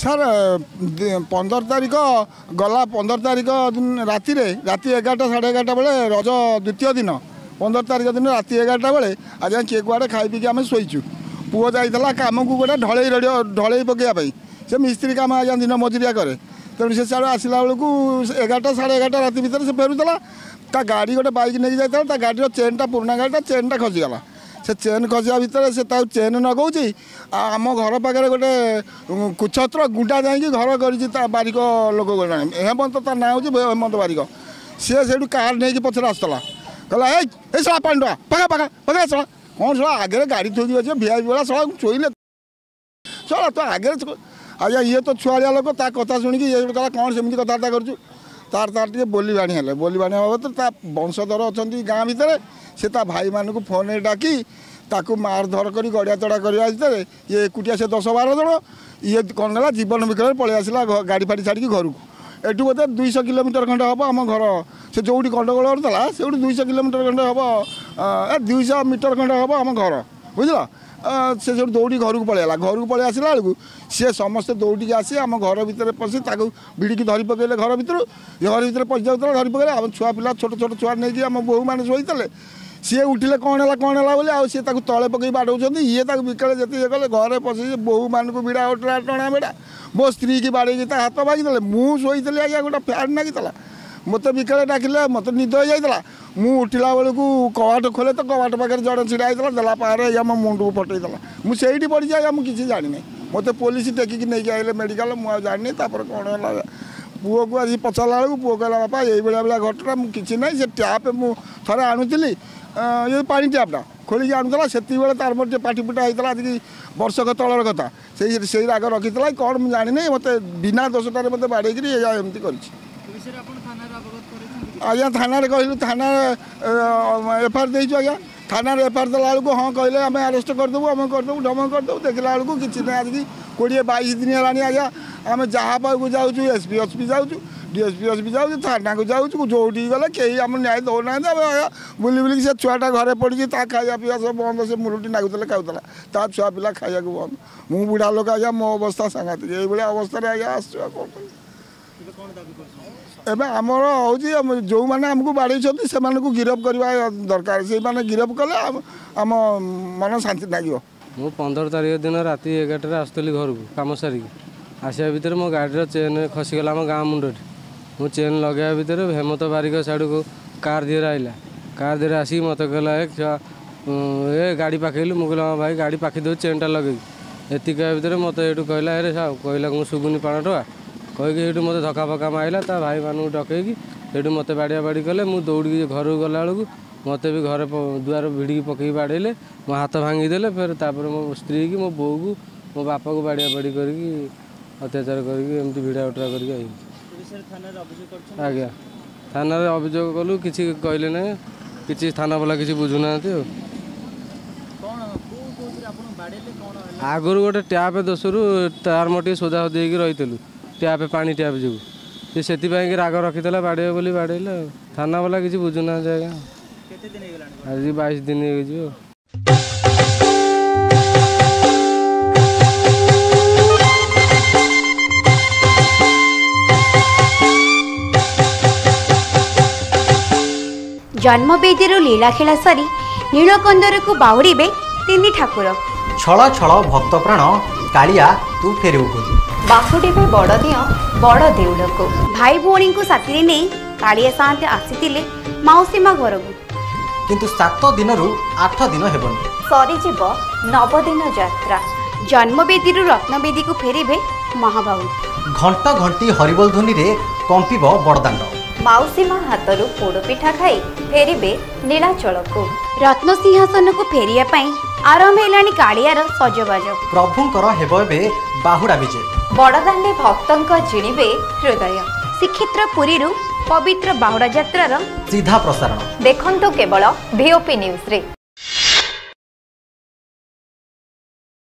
Sir, 15 ତାରିଖ ଗଲା, 15 ତାରିଖ ରାତିରେ, ରାତି 11ଟା 11:30 ବେଳେ, ରଜ ଦ୍ୱିତୀୟ ଦିନ 15 ତାରିଖ ଦିନ ରାତି 11ଟା ବେଳେ ଆଜ୍ଞା, କିଏ କୁଆଡ଼େ ଖାଇ ପିଇକି ଆମେ ଶୋଇଛୁ। ପୁଅ ଯାଇଥିଲା କାମକୁ, ଗୋଟେ ଢଳେଇ ଢଳେଇ ପକାଇବା ପାଇଁ। ସେ ମିସ୍ତ୍ରୀ କାମ ଆଜ୍ଞା, ଦିନ ମଜୁରିଆ କରେ। ତେଣୁ ସେ ସିଆଡ଼ୁ ଆସିଲା ବେଳକୁ 11ଟା 11:30 ରାତି ଭିତରେ ସେ ଫେରୁଥିଲା। ତା ଗାଡ଼ି, ଗୋଟେ ବାଇକ୍ ନେଇକି ଯାଇଥିଲା, ତା ଗାଡ଼ିର ଚେନ୍ଟା, ପୁରୁଣା ଗାଡ଼ିଟା, ଚେନ୍ଟା ଖସିଗଲା। ସେ ଚେନ୍ ଖସିବା ଭିତରେ ସେ ତାକୁ ଚେନ୍ ଲଗାଉଛି, ଆଉ ଆମ ଘର ପାଖରେ ଗୋଟେ କୁଛତ୍ର ଗୁଣ୍ଡା ଯାଇକି ଘର କରିଛି, ତା ବାରିକ ଲୋକ ଜଣେ, ହେମନ୍ତ, ତା ନାଁ ହେଉଛି ହେମନ୍ତ ବାରିକ। ସିଏ ସେଇଠୁ କାର୍ ନେଇକି ପଛରେ ଆସୁଥିଲା। କହିଲା, ଏଇ ଏଇ ଶଳା ପାଣ୍ଡୁଆ, ପକା ପକା ପକା ଶଳା, କ'ଣ ଶଳା ଆଗରେ ଗାଡ଼ି ଥୋଇକି ଅଛି, ଭିଆଇପି ଭଳିଆ ଶଳା ଶୋଇଲେ ଶଳା ତ ଆଗରେ। ଆଜ୍ଞା, ଇଏ ତ ଛୁଆଳିଆ ଲୋକ, ତା କଥା ଶୁଣିକି ଇଏ କହିଲା, କ'ଣ ସେମିତି କଥାବାର୍ତ୍ତା କରୁଛୁ? ତାର ତାର ଟିକେ ବୋଲି ବାଣି ହେଲେ। ବୋଲି ବାଣି ହେବା ତ ତା ବଂଶଧର ଅଛନ୍ତି ଗାଁ ଭିତରେ, ସେ ତା ଭାଇମାନଙ୍କୁ ଫୋନ୍ରେ ଡାକି ତାକୁ ମାରଧର କରି ଗଡ଼ିଆ ତଡ଼ା କରିବା ଭିତରେ ଇଏ ଏକୁଟିଆ, ସେ 10 12 ଜଣ, ଇଏ କ'ଣ କଲା, ଜୀବନ ବିକଳରେ ପଳେଇ ଆସିଲା ଗାଡ଼ି ଫାଡ଼ି ଛାଡ଼ିକି ଘରକୁ। ଏଠୁ ବୋଧେ 200 କିଲୋମିଟର ଖଣ୍ଡେ ହେବ ଆମ ଘର। ସେ ଯେଉଁଠି ଗଣ୍ଡଗୋଳ କରୁଥିଲା ସେଇଠୁ 200 କିଲୋମିଟର ଖଣ୍ଡେ ହେବ, 200 ମିଟର ଖଣ୍ଡେ ହେବ ଆମ ଘର, ବୁଝିଲ? ସେ ସେଠୁ ଦୌଡ଼ି ଘରକୁ ପଳେଇଲା। ଘରକୁ ପଳେଇ ଆସିଲା ବେଳକୁ ସିଏ ସମସ୍ତେ ଦୌଡ଼ିକି ଆସି ଆମ ଘର ଭିତରେ ପଶି ତାକୁ ଭିଡ଼ିକି ଧରି ପକେଇଲେ ଘର ଭିତରୁ। ଘର ଭିତରେ ପଶି ଯାଉଥିଲା, ଧରି ପକେଇଲେ। ଆମ ଛୁଆ ପିଲା, ଛୋଟ ଛୋଟ ଛୁଆ ନେଇକି ଆମ ବୋହୂମାନେ ଶୋଇଥିଲେ। ସିଏ ଉଠିଲେ, କ'ଣ ହେଲା କ'ଣ ହେଲା ବୋଲି, ଆଉ ସିଏ ତାକୁ ତଳେ ପକେଇ ବାଡ଼ଉଛନ୍ତି। ଇଏ ତାକୁ ବିକଳେ ଯେତେ ଇଏ କଲେ, ଘରେ ପଶି ବୋହୂମାନଙ୍କୁ ଭିଡ଼ା ଉଠା ଟଣା ଭିଡ଼ା, ମୋ ସ୍ତ୍ରୀକି ବାଡ଼େଇକି ତା ହାତ ଭାଙ୍ଗିଦେଲେ। ମୁଁ ଶୋଇଥିଲି ଆଜ୍ଞା, ଗୋଟେ ଫ୍ୟାନ୍ ଲାଗିଥିଲା। ମୋତେ ବିକଳେ ଡାକିଲେ, ମୋତେ ନିଦ ହେଇଯାଇଥିଲା। ମୁଁ ଉଠିଲା ବେଳକୁ କବାଟ ଖୋଲେ ତ କବାଟ ପାଖରେ ଜଣେ ଛିଡ଼ା ହେଇଥିଲା, ଦେଲା ପାହାରେ ଆଜ୍ଞା ମୋ ମୁଣ୍ଡକୁ ଫଟେଇଦେଲା। ମୁଁ ସେଇଠି ପଡ଼ିଛି ଆଜ୍ଞା, ମୁଁ କିଛି ଜାଣିନି। ମୋତେ ପୋଲିସ ଟେକିକି ନେଇକି ଆଇଲେ ମେଡ଼ିକାଲ। ମୁଁ ଆଉ ଜାଣିନି ତାପରେ କ'ଣ ହେଲା। ପୁଅକୁ ଆଜି ପଚାରିଲା ବେଳକୁ ପୁଅ କହିଲା, ବାପା, ଏଇଭଳିଆ ଭଳିଆ ଘଟଣା, ମୁଁ କିଛି ନାହିଁ। ସେ ଟ୍ୟାପ୍ ମୁଁ ଥରେ ଆଣୁଥିଲି, ଏ ପାଣି ଟ୍ୟାପ୍ଟା ଖୋଲିକି ଆଣୁଥିଲା, ସେତିକିବେଳେ ତାର ମୋର ଟିକେ ପାଟି ଫୁଟା ହେଇଥିଲା। ଆଜିକି ବର୍ଷକ ତଳର କଥା। ସେଇ ରାଗ ରଖିଥିଲା କ'ଣ ମୁଁ ଜାଣିନି। ମୋତେ ବିନା ଦୋଷଟାରେ ମୋତେ ବାଡ଼େଇକିରି ଏଇଆ ଏମିତି କରିଛି ଆଜ୍ଞା। ଥାନାରେ କହିଲୁ, ଥାନାରେ ଏଫଆଇଆର ଦେଇଛୁ ଆଜ୍ଞା। ଥାନାରେ ଏଫଆଇଆର ଦେଲା ବେଳକୁ ହଁ କହିଲେ, ଆମେ ଆରେଷ୍ଟ କରିଦେବୁ, ଆମେ କରିଦେବୁ, ଢମକ କରିଦେବୁ। ଦେଖିଲା ବେଳକୁ କିଛି ନାହିଁ। ଆଜିକି 20 22 ଦିନ ହେଲାଣି ଆଜ୍ଞା। ଆମେ ଯାହା ପାଖକୁ ଯାଉଛୁ, ଏସ୍ ପି ଏସ୍ ପି ଯାଉଛୁ, ଡିଏସ୍ପି ଏସ୍ ପି ଯାଉଛୁ, ଥାନାକୁ ଯାଉଛୁ, ଯେଉଁଠିକି ଗଲେ କେହି ଆମ ନ୍ୟାୟ ଦେଉନାହାନ୍ତି। ଆମେ ଆଜ୍ଞା ବୁଲି ବୁଲିକି, ସେ ଛୁଆଟା ଘରେ ପଡ଼ିଛି, ତା ଖାଇବା ପିଇବା ସବୁ ବନ୍ଦ। ସେ ମୁରୁଟି ନାଗୁଥିଲେ ଖାଉଥିଲା, ତା ଛୁଆ ପିଲା ଖାଇବାକୁ ବନ୍ଦ। ମୁଁ ବୁଢ଼ା ଲୋକ ଆଜ୍ଞା, ମୋ ଅବସ୍ଥା ସାଂଘାତିକ। ଏଇଭଳିଆ ଅବସ୍ଥାରେ ଆଜ୍ଞା ଆସୁଛୁ, ଆଉ କ'ଣ କରିବୁ? ଏବେ ଆମର ହେଉଛି, ଯେଉଁମାନେ ଆମକୁ ବାଡ଼େଇଛନ୍ତି ସେମାନଙ୍କୁ ଗିରଫ କରିବା ଦରକାର। ସେଇମାନେ ଗିରଫ କଲେ ଆମ ମନ ଶାନ୍ତି ଲାଗିବ। ମୁଁ 15 ତାରିଖ ଦିନ ରାତି 11ଟାରେ ଆସୁଥିଲି ଘରକୁ କାମ ସାରିକି। ଆସିବା ଭିତରେ ମୋ ଗାଡ଼ିର ଚେନ୍ ଖସିଗଲା ଆମ ଗାଁ ମୁଣ୍ଡରେ। ମୁଁ ଚେନ୍ ଲଗାଇବା ଭିତରେ ହେମନ୍ତ ବାରିକ ସିଆଡ଼କୁ କାର୍ ଦିହରେ ଆଇଲା। କାର୍ ଦିହରେ ଆସିକି ମୋତେ କହିଲା, ଏ ଛୁଆ, ଏ ଗାଡ଼ି ପାଖେଇଲୁ। ମୁଁ କହିଲି, ହଁ ଭାଇ, ଗାଡ଼ି ପାଖେଇ ଦେଉଛି ଚେନ୍ଟା ଲଗେଇକି। ଏତିକି କହିବା ଭିତରେ ମୋତେ ଏଇଠୁ କହିଲା, ଆରେ ସାଉ, କହିଲା ମୁଁ ଶୁଭୁନି ପାଣ ଟଙ୍କା କହିକି ସେଇଠୁ ମୋତେ ଧକ୍କା ଫକ୍କା ମାରିଲା। ତା ଭାଇମାନଙ୍କୁ ଡକେଇକି ସେଇଠୁ ମୋତେ ବାଡ଼ିଆ ବାଡ଼ି କଲେ। ମୁଁ ଦୌଡ଼ିକି ଘରକୁ ଗଲାବେଳକୁ ମୋତେ ବି ଘରେ ଦୁଆର ଭିଡ଼ିକି ପକେଇକି ବାଡ଼େଇଲେ, ମୋ ହାତ ଭାଙ୍ଗିଦେଲେ। ଫେର ତାପରେ ମୋ ସ୍ତ୍ରୀକି, ମୋ ବୋଉକୁ, ମୋ ବାପାକୁ ବାଡ଼ିଆ ବାଡ଼ି କରିକି, ଅତ୍ୟାଚାର କରିକି, ଏମିତି ଭିଡ଼ା ଉଟରା କରିକି ଆଇଲି ଆଜ୍ଞା। ଥାନାରେ ଅଭିଯୋଗ କଲୁ, କିଛି କହିଲେ ନାହିଁ। କିଛି ଥାନା ବାଲା କିଛି ବୁଝୁନାହାନ୍ତି। ଆଉ ଆଗରୁ ଗୋଟେ ଟ୍ୟାପ୍ ଦୋଷରୁ ତାର ମୋର ଟିକେ ସୋଦା ସୋଦି ହେଇକି ରହିଥିଲୁ, ଟ୍ୟାପ୍ ପାଣି ଟ୍ୟାପ୍ ଯୋଗୁଁ। ସେ ସେଥିପାଇଁ କି ରାଗ ରଖିଥିଲା, ବାଡ଼େଇବ ବୋଲି ବାଡ଼େଇଲେ। ଆଉ ଥାନା ବାଲା କିଛି ବୁଝୁନାହାନ୍ତି ଆଜ୍ଞା। ଆଜି 22 ଦିନ ହେଇଯିବ। ଜନ୍ମବେଦୀରୁ ଲୀଳାଖେଳା ସାରି ନୀଳକନ୍ଦରକୁ ବାହୁଡ଼ିବେ ତିନି ଠାକୁର। ଛଳ ଛଳ ଭକ୍ତ ପ୍ରାଣ, କାଳିଆ ତୁ ଫେରିବୁ ଖୋଜି। ବାହୁଡ଼ିବେ ବଡ଼ ଦିଅଁ ବଡ଼ ଦେଉଳକୁ। ଭାଇ ଭଉଣୀଙ୍କୁ ସାଥିରେ ନେଇ କାଳିଆ ସାଆନ୍ତେ ଆସିଥିଲେ ମାଉସୀ ମା ଘରକୁ। କିନ୍ତୁ 7 ଦିନରୁ 8 ଦିନ ହେବନି, ସରିଯିବ ନବଦିନ ଯାତ୍ରା। ଜନ୍ମବେଦୀରୁ ରତ୍ନବେଦୀକୁ ଫେରିବେ ମହାବାହୁ। ଘଣ୍ଟ ଘଣ୍ଟି ହରିବୋଲ ଧ୍ୱନିରେ କମ୍ପିବ ବଡ଼ଦାଣ୍ଡ। ମାଉସୀ ମା ହାତରୁ ପୋଡ଼ପିଠା ଖାଇ ଫେରିବେ ନୀଳାଚଳକୁ। ରତ୍ନସିଂହାସନକୁ ଫେରିବା ପାଇଁ ଆରମ୍ଭ ହେଲାଣି କାଳିଆର ସଜବାଜ। ପ୍ରଭୁଙ୍କର ହେବ ଏବେ ବାହୁଡ଼ା ବିଜେ। ବଡ଼ଦାଣ୍ଡେ ଭକ୍ତଙ୍କ ଜିଣିବେ ହୃଦୟ। ଶ୍ରୀକ୍ଷେତ୍ର ପୁରୀରୁ ପବିତ୍ର ବାହୁଡ଼ା ଯାତ୍ରାର ସିଧା ପ୍ରସାରଣ ଦେଖନ୍ତୁ କେବଳ ଭିଓପି ନ୍ୟୁଜ୍ରେ।